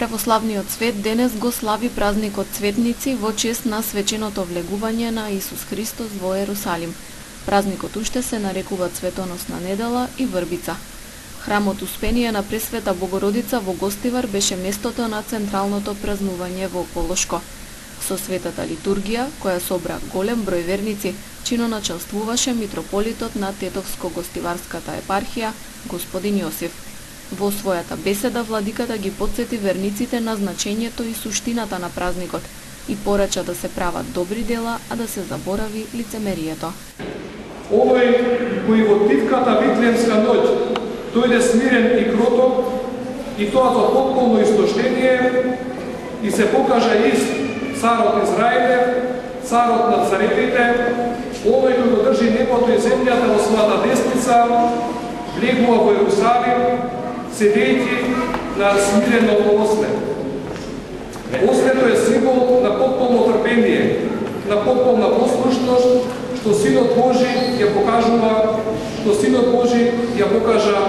во славниот свет денес го слави празникот Цветници во чест на свеченото влегување на Исус Христос во Ерусалим. Празникот уште се нарекува Цветоносна недела и Врбица. Храмот Успение на Пресвета Богородица во Гостивар беше местото на централното празнување во Полошко. Со светата литургија, која собра голем број верници, чиноначалствуваше митрополитот на Тетовско-Гостиварската епархија, господин Јосиф. Во својата беседа владиката ги потсети верниците на значењето и суштината на празникот и порача да се прават добри дела, а да се заборави лицемерието. Овој кој во тивката Витлеемска ноќ дојде смирен и кроток, и тоа за потполно истоштение, и се покажа ист царот Израилев, царот на царевите, овој кој го држи небото и земјата во својата десница, влегува во Ерусалим, седејќи на смирено осле. Ослето е символ на потполно трпение, на потполна послушност, што Синот Божи ја покажува, што Синот Божи ја покажа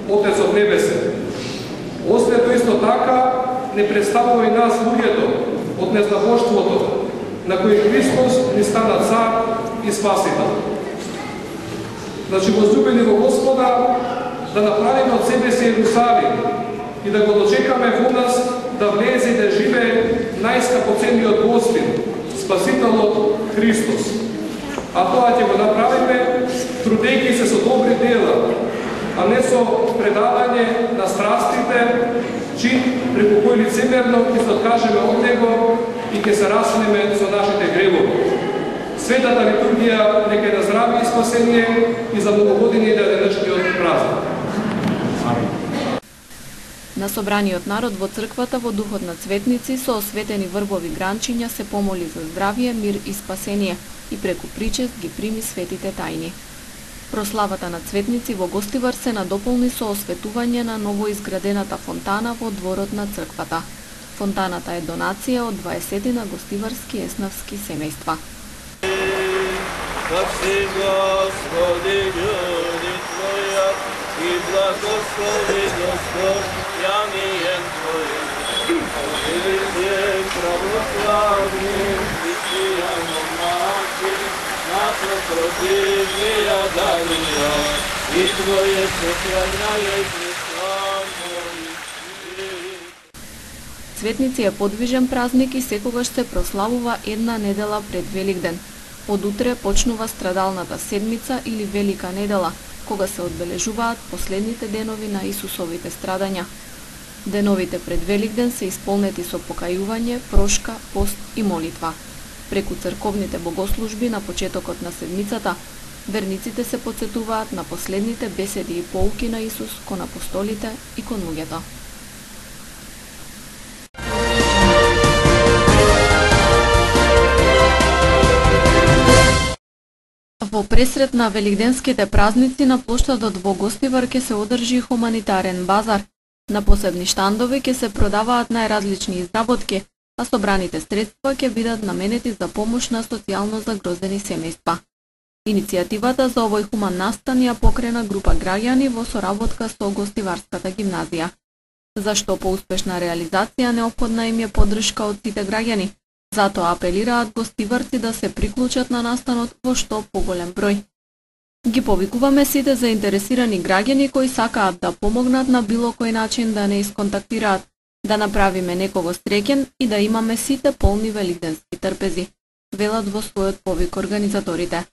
Отецот Небесен. Ослето исто така не представува и нас луѓето од незнабоштвото, на кој Христос ни стана цар и спасител. Значи, возлюбени во Господа, да направиме од себе си Ерусалим и да го дочекаме во нас да влезе и да живее најскапоцениот Госпин, Спасителот Христос. А тоа ќе го направиме трудејќи се со добри дела, а не со предавање на страстите, чин преку кој лицемерно ќе се откажеме од него и ќе се раснеме со нашите гревови. Светата литургија нека е на здравие и спасение и за многу години да е денешниот празник. На собраниот народ во црквата во духот на Цветници со осветени врбови гранчиња се помоли за здравие, мир и спасение и преку причест ги прими светите тајни. Прославата на Цветници во Гостивар се надополни со осветување на новоизградената фонтана во дворот на црквата. Фонтаната е донација од 20 на гостиварски еснавски семејства. Господи, људи Твоја, и благослови Господ, јанијем Твојим. Овие православни, христијано мачи, наша противија дарија, и Твоје сохрањаје Христови. Цветници е подвижен празник и секогаш се прославува една недела пред Великден. Од утре почнува страдалната седмица или Велика недела, кога се одбележуваат последните денови на Исусовите страдања. Деновите пред Великден се исполнети со покајување, прошка, пост и молитва. Преку црковните богослужби на почетокот на седмицата, верниците се потсетуваат на последните беседи и поуки на Исус кон апостолите и кон луѓето. Во пресред на великденските празници на плоштадот во Гостивар ќе се одржи хуманитарен базар. На посебни штандови ќе се продаваат најразлични изработки, а собраните средства ќе бидат наменети за помош на социјално загрозени семејства. Иницијативата за овој хуман настан ја покрена група граѓани во соработка со Гостиварската гимназија. Зашто по успешна реализација неопходна им е поддршка од сите граѓани. Затоа апелираат гостиварци да се приклучат на настанот во што поголем број. Ги повикуваме сите заинтересирани граѓани кои сакаат да помогнат на било кој начин да не исконтактираат, да направиме некого среќен и да имаме сите полни великденски трпези, велат во својот повик организаторите.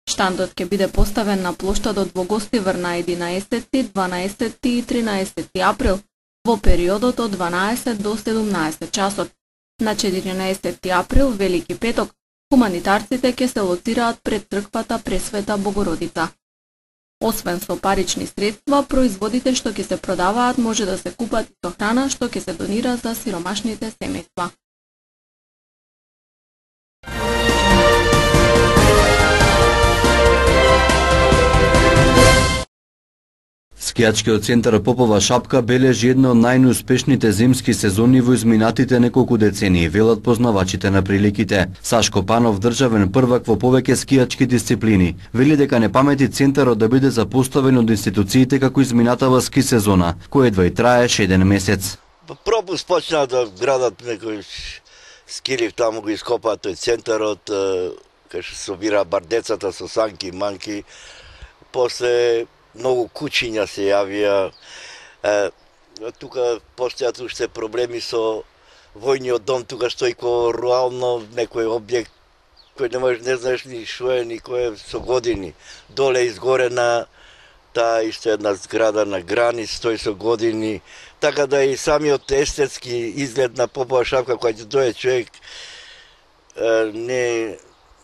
Штандот ќе биде поставен на плоштадот во Гостивар на 11, 12 и 13 април во периодот од 12 до 17 часот. На 14 април, Велики петок, хуманитарците ќе се лоцираат пред црквата Пресвета Богородица. Освен со парични средства, производите што ќе се продаваат може да се купат и со храна што ќе се донира за сиромашните семејства. Скијачкиот центар Попова шапка бележи едно од најнеуспешните зимски сезони во изминатите неколку децении, велат познавачите на приликите. Сашко Панов, државен првак во повеќе скијачки дисциплини, вели дека не памети центарот да биде запоставен од институциите како изминатава ски сезона, која едва и траеш еден месец. Пропуск почна да градат некој скилив, таму го ископаат тој центарот, кај што собира бар децата со санки, манки. После многу кучиња се јавија. Тука постојат уште проблеми со војниот дом, тука стои ко руално некој објект кој не знаеш ни шо е, ни кој е со години. Доле изгорена таа исто една зграда на границ, стои со години. Така да и самиот естетски изглед на Попова шапка, кој ќе дојде човек,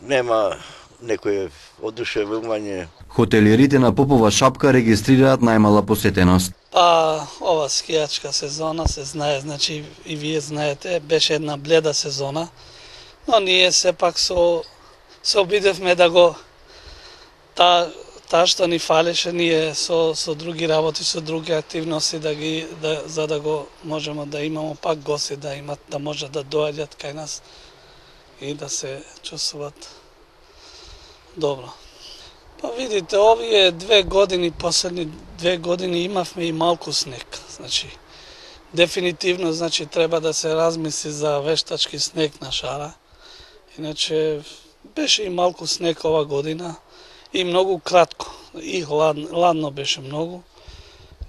нема некој одушевување. Хотелиерите на Попова шапка регистрираат најмала посетеност. Ова скијачка сезона се знае, значи и вие знаете, беше една бледа сезона, но ние сепак се обидевме да го таа што ни фалеше, ние со други работи, со други активности за да го можеме да имамо пак гости, да може да доаѓат кај нас и да се чувствуват добро. Видите, овие 2 години, последни 2 години имавме и малку снег. Значи, дефинитивно, значи, треба да се размисли за вештачки снег на шара. Иначе, беше и малку снег ова година и многу кратко. И ладно беше многу.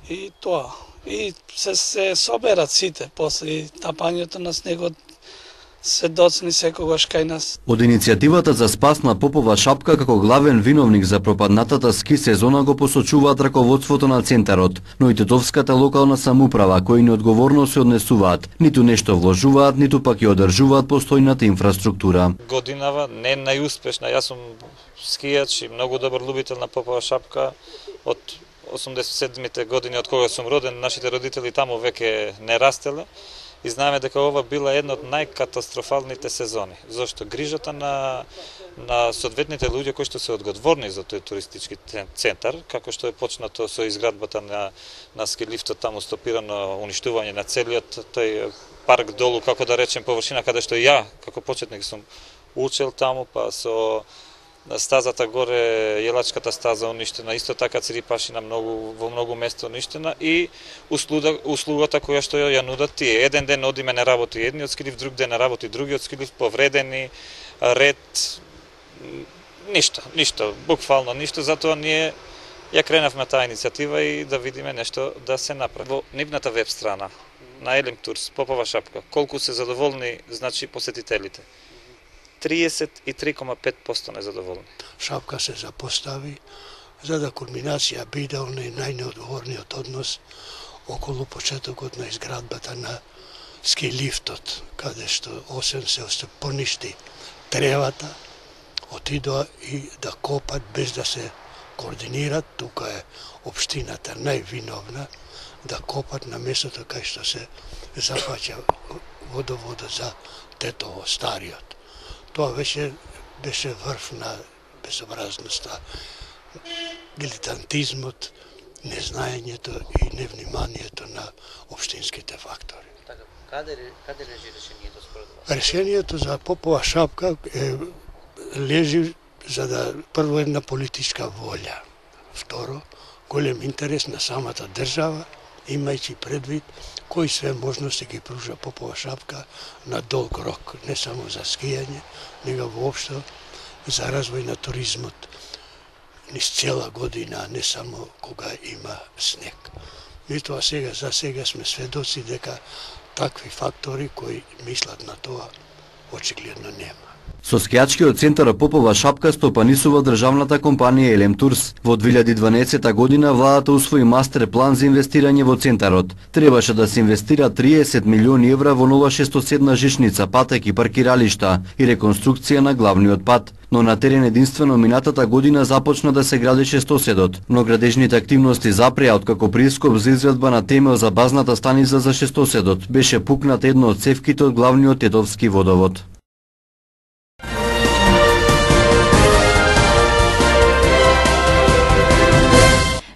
И тоа. И се соберат сите после тапањето на снегот. Се доцни секогаш кај нас. Од иницијативата за спас на Попова шапка како главен виновник за пропаднатата ски сезона го посочуваат раководството на центарот, но и тетовската локална самоуправа, кои неодговорно се однесуваат, ниту нешто вложуваат, ниту пак ја одржуваат постојната инфраструктура. Годинава не најуспешна, јас сум скијач и многу добар любител на Попова шапка. Од 87-те години од кога сум роден, нашите родители таму веќе не растеле. И знаеме дека ова била една од најкатастрофалните сезони. Зошто грижата на соодветните луѓе кои што се одговорни за тој туристички центар, како што е почнато со изградбата на ски лифтот, таму стопирано уништување на целиот тој парк долу, како да речем, површина каде што ја како почетник сум учел таму, па со стазата горе, јелачката стаза уништена, исто така цирипашина во многу место уништена и услугата која што ја нудат тие. Еден ден одиме на работи едниот скилив, друг ден на работи другиот скилив, повредени, ред, ништо, буквално ништо, затоа ние ја кренавме таа иницијатива и да видиме нешто да се направи. Во нивната веб страна на Елем Турс, Попова шапка, колку се задоволни, значи посетителите. 33,5% незадоволни. Шапка се запостави за да кулминација биде оној најнеодговорниот однос околу почетокот на изградбата на ски лифтот, каде што освен се поништи тревата, отидоа и да копат без да се координират, тука е општината највиновна, да копат на местото кај што се зафаќа водоводот за Тетово, стариот. Тоа беше врв на безобразноста, дилетантизмот, незнаењето и невниманието на општинските фактори. Каде лежи решението според вас? Решението за Попова шапка лежи за да прво една политичка волја, второ голем интерес на самата држава, имајќи предвид кои све можности ги пружа Попова шапка на долг рок, не само за скијање, него воопшто за развој на туризмот низ цела година, не само кога има снег. Меѓутоа за сега сме сведоци дека такви фактори кои мислат на тоа очигледно нема. Со скијачкиот центар Попова шапка стопанисува државната компанија Елем Турс. Во 2012 година владата усвои мастер план за инвестирање во центарот. Требаше да се инвестира 30 милиони евра во нова шестоседна жичница, патек и паркиралишта и реконструкција на главниот пат. Но на терен единствено минатата година започна да се гради шестоседот. Но градежните активности запреа откако прископ за изградба на темел за базната станица за шестоседот беше пукнат едно од цевките од главниот тетовски водовод.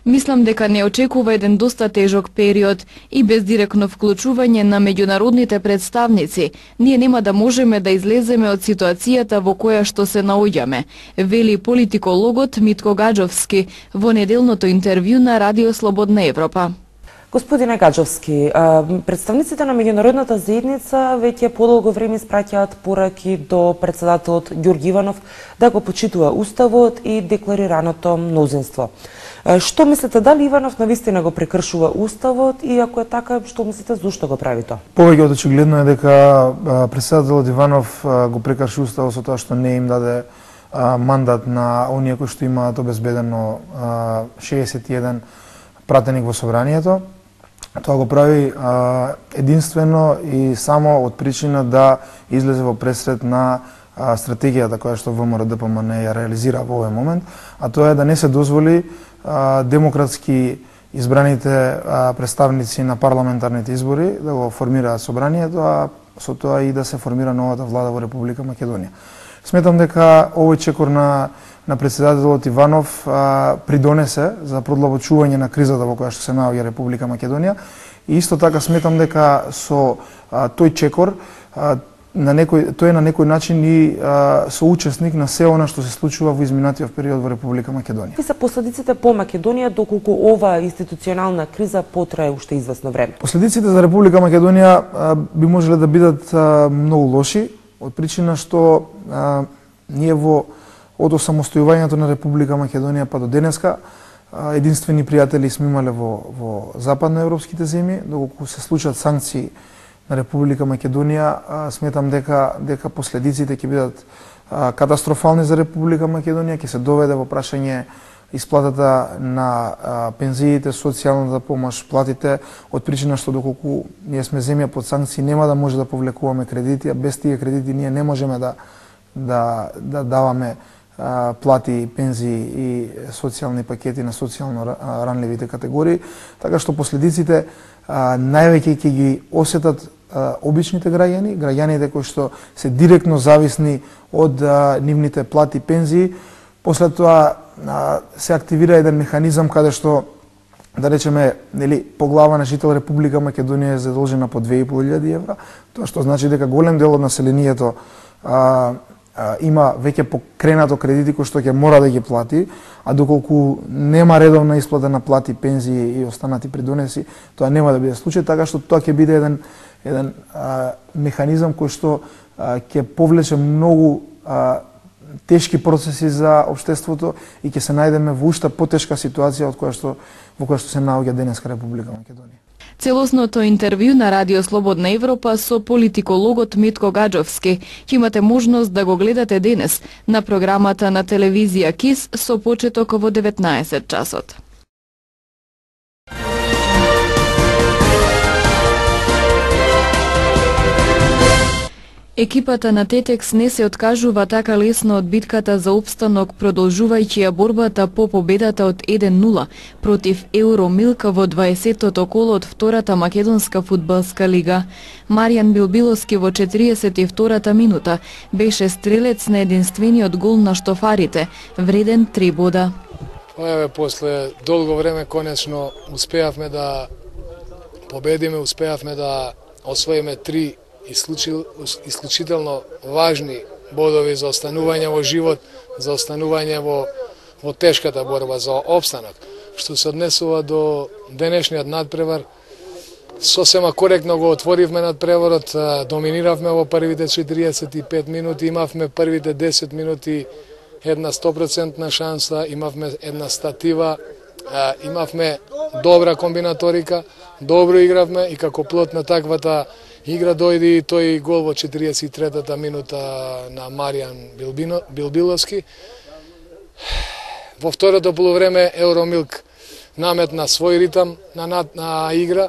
Мислам дека не очекува еден доста тежок период и без директно вклучување на меѓународните представници, ние нема да можеме да излеземе од ситуацијата во која што се наоѓаме, вели политикологот Митко Гаджовски во неделното интервју на Радио Слободна Европа. Господине Гаджовски, представниците на меѓународната заедница веќе подолго време испраќаат пораки до председателот Ѓорги Иванов да го почитува уставот и декларираното мнозинство. Што мислите, дали Иванов навистина го прекршува уставот и ако е така, што мислите зошто го прави тоа? Повеќе од очигледно е дека председателот Иванов го прекрши уставот со тоа што не им даде мандат на оние кои што имаат обезбедено 61 пратеник во собранието. Тоа го прави единствено и само од причина да излезе во пресред на стратегијата која што ВМРО-ДПМН ја реализира во овој момент, а тоа е да не се дозволи демократски избраните представници на парламентарните избори да го формираат собранието, а со тоа и да се формира новата влада во Република Македонија. Сметам дека овој чекор на председателот Иванов придонесе за продлабочување на кризата во која што се наоѓа Република Македонија и исто така сметам дека со тој чекор тој е на некој начин и соучесник на се она што се случува во изминатиот период во Република Македонија. Какви се последиците по Македонија доколку ова институционална криза потрае уште известно време? Последиците за Република Македонија би можеле да бидат многу лоши, од причина што ние од осамостојувањето на Република Македонија па до денеска единствени пријатели сме имале во западноевропските земји, доколку се случат санкции на Република Македонија, сметам дека последиците ќе бидат катастрофални за Република Македонија, ќе се доведе во прашање исплатата на пензиите, социјалната помош, платите, од причина што доколку ние сме земја под санкции, нема да може да повлекуваме кредити, а без тие кредити ние не можеме да даваме плати, пензии и социјални пакети на социјално ранливите категории, така што последиците највеќе ќе ги осетат обичните граѓаните кои што се директно зависни од нивните плати, пензии. После тоа се активира еден механизам каде што, да речеме, по глава на жител Република Македонија е задолжена по 2500 евра, тоа што значи дека голем дел од населението има веќе покренато кредити кои што ќе мора да ги плати, а доколку нема редовна исплата на плати, пензии и останати придонеси, тоа нема да биде случај, така што тоа ќе биде еден механизам кој што ќе повлече многу тешки процеси за општеството и ќе се најдеме во уште потешка ситуација во која што се наоѓа денеска Република Македонија. Целосното интервју на Радио Слободна Европа со политикологот Митко Гаджовски ќе имате можност да го гледате денес на програмата на телевизија КИС со почеток во 19 часот. Екипата на Тетекс не се откажува така лесно од битката за опстанок, продолжувајќи ја борбата по победата од 1-0 против Евромилк во 20-тото коло од втората македонска фудбалска лига. Маријан Билбиловски во 42-та минута беше стрелец на единствениот гол на штофарите, вреден 3 бода. Еве, после долго време конечно успеавме да победиме, успеавме да освоиме 3 исклучително важни бодови за останување во живот, за останување во тешката борба за опстанок. Што се однесува до денешниот надпревар, сосема коректно го отворивме надпреварот, доминиравме во првите 45 минути, имавме првите 10 минути една 100% шанса, имавме една статива, имавме добра комбинаторика, добро игравме и како плод на таквата игра дојде и тој гол во 43-та минута на Маријан Билбиловски. Во второто полувреме Евромилк наметна свој ритам на игра.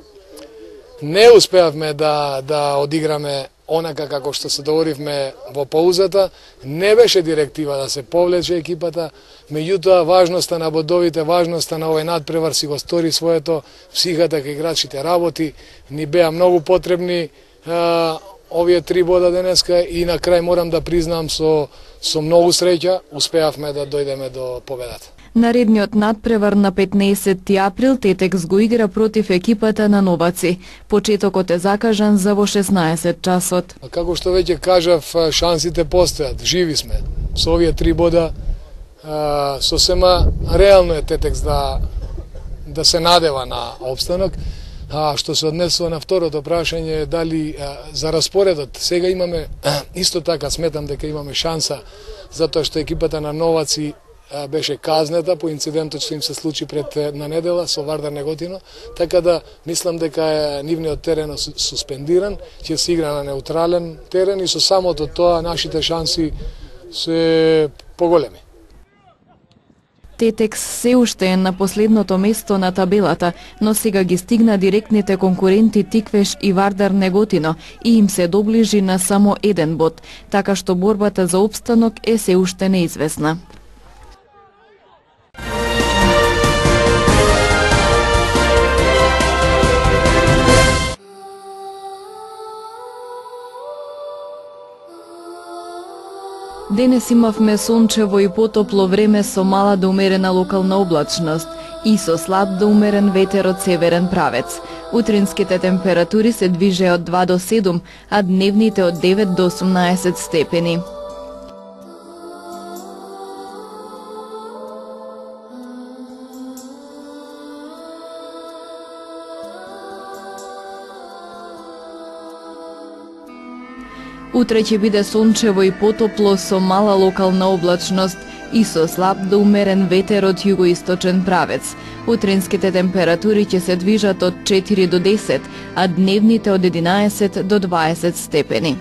Не успеавме да одиграме онака како што се договоривме во паузата. Не беше директива да се повлече екипата, меѓутоа важноста на бодовите, важноста на овој надпревар си го стори своето, психата кај играчите работи, ни беа многу потребни овие 3 бода денеска и на крај морам да признам со многу среќа успеавме да дојдеме до победата. Наредниот надпревар на 15 април Тетекс го игра против екипата на Новаци. Почетокот е закажан за во 16 часот. Како што веќе кажав, шансите постојат, живи сме. Со овие 3 бода сосема реално е Тетекс да се надева на опстанок. А што се однесува на второто прашање, дали за распоредот, сега имаме, исто така сметам дека имаме шанса, затоа што екипата на Новаци беше казнета по инцидентот што им се случи пред една недела со Вардар Неготино, така да мислам дека нивниот терен е суспендиран, ќе се игра на неутрален терен и со самото тоа нашите шанси се поголеми. Тетекс се уште е на последното место на табелата, но сега ги стигна директните конкуренти Тиквеш и Вардар Неготино и им се доближи на само 1 бод, така што борбата за опстанок е се уште неизвестна. Денес имавме сончево и потопло време со мала до умерена локална облачност и со слаб до умерен ветер од северен правец. Утринските температури се движеа од 2 до 7, а дневните од 9 до 18 степени. Утре ќе биде сончево и потопло со мала локална облачност и со слаб до умерен ветер од југоисточен правец. Утринските температури ќе се движат од 4 до 10, а дневните од 11 до 20 степени.